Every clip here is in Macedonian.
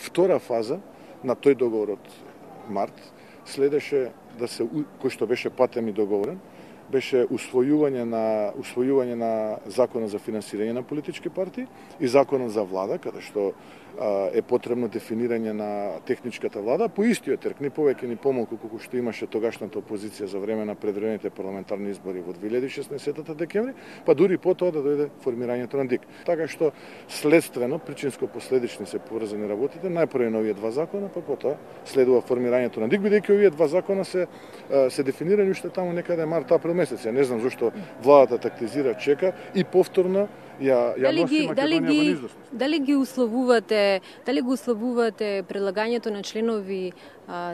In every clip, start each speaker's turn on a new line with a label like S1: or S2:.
S1: Втора фаза на тој договор од март следеше да се, кој што беше патем и договорен, беше усвојување на законот за финансирање на политички партии и законот за влада, каде што е потребно дефинирање на техничката влада по истиот терк, ни повеќе ни помалку колку што имаше тогашната опозиција за време на предвремените парламентарни избори во 2016 декември, па дури потоа да дојде формирањето на ДИК. Така што следствено, причинско-последични се поврзани работите, најпрво на овие два закона, па потоа следува формирањето на ДИК, бидејќи овие два закона се дефинирани уште таму некаде март-април месец. Ја не знам зошто владата тактизира, чека и повторно ја носи Македонија во неизвестност.
S2: Дали ги условувате предлагањето на членови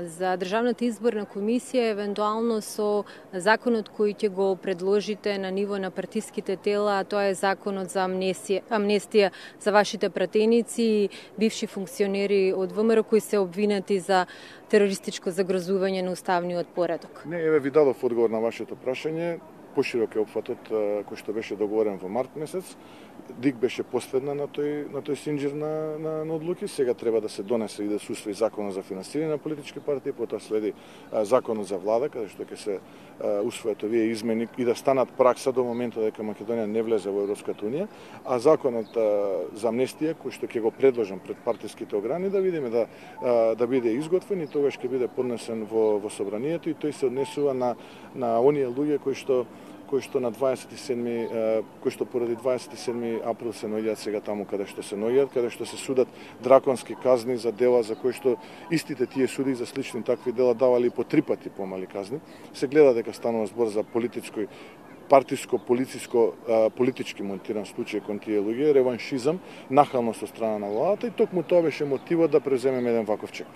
S2: за Државната изборна комисија евентуално со законот кој ќе го предложите на ниво на партиските тела, а тоа е законот за амнестија за вашите пратеници и бивши функционери од ВМРО кои се обвинети за терористичко загрозување на уставниот поредок?
S1: Не, еве ви дадов одговор на вашето прашање. Поширок е опфатот кој што беше договорен во март месец. ДИК беше последна на тој синџир на одлуки. Сега треба да се донесе и да се усвои законот за финансирање на политички партии, потоа следи законот за влада, каде што ќе се усвојат овие измени и да станат пракса до моментот дека Македонија не влезе во Европската унија, а законот за амнестија кој што ќе го предложам пред партиските ограни да видиме да биде изготвен и тогаш ќе биде поднесен во собранието и тој се однесува на оние луѓе кои што на 27 кои што поради 27 април се наоѓаат сега таму каде што се наоѓаат, каде што се судат драконски казни за дела за кои што истите тие суди за слични такви дела давали по 3 пати помали казни. Се гледа дека станува збор за политички монтиран случај кон тие луѓе, реваншизам, нахалност од страна на владата и токму тоа беше мотивот да преземеме еден ваков чек.